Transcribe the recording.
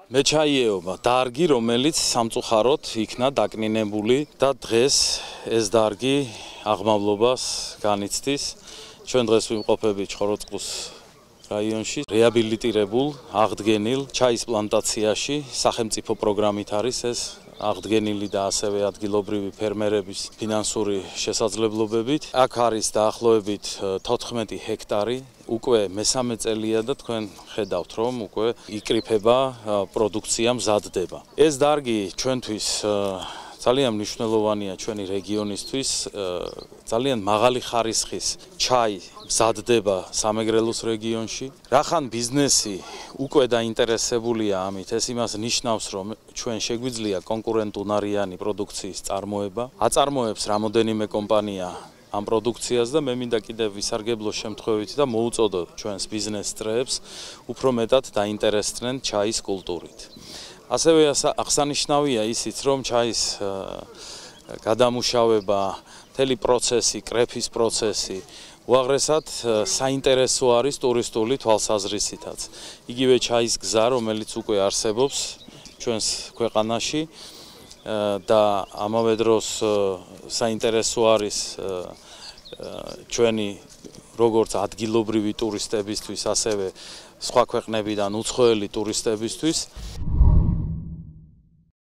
მე ჩაიეობა დარგი, რომელიც სამწუხაროდ იქნა დაკნინებული და დღეს ეს დარგი აღმავლობას განიცდის. ჩვენ დღეს ვიმყოფებით ჭოროწყუს რაიონში რეაბილიტირებულ, აღდგენილ ჩაის პლანტაციაში სახელმწიფო პროგრამით არის ეს აღდგენილი და ასევე ადგილობრივი ფერმერების ფინანსური შესაძლებლობებით. აქ არის დაახლოებით 14 ჰექტარი. უკვე მესამე წელია და თქვენ ხედავთ, რომ უკვე იკრიფება პროდუქცია მზადდება. ეს დარგი ჩვენთვის ძალიან მნიშვნელოვანია ჩვენი რეგიონისთვის, ძალიან მაღალი ხარისხის ჩაი მზადდება სამეგრელოს რეგიონში. რახან ბიზნესი უკვე დაინტერესებულია ამით, ეს იმას ნიშნავს, რომ ჩვენ შეგვიძლია კონკურენტუნარიანი პროდუქციის წარმოება. აწარმოებს რამოდენიმე კომპანია ამ პროდუქციას და მე მინდა კიდევ ვისარგებლო შემთხვევით და მოუწოდო ჩვენს ბიზნეს წრეებს უფრო მეტად დაინტერესდნენ ჩაის კულტურით. ასევე აღსანიშნავია ისიც, რომ ჩაის გადამუშავება, მთელი პროცესი, კრეფის პროცესი უაღრესად საინტერესო არის ტურისტული თვალსაზრისითაც. იგივე ჩაის გზა, რომელიც უკვე არსებობს ჩვენს ქვეყანაში და ამავე დროს საინტერესო არის ჩვენი როგორც ადგილობრივი ტურისტებისთვის, ასევე სხვა ქვეყნებიდან უცხოელი ტურისტებისთვის.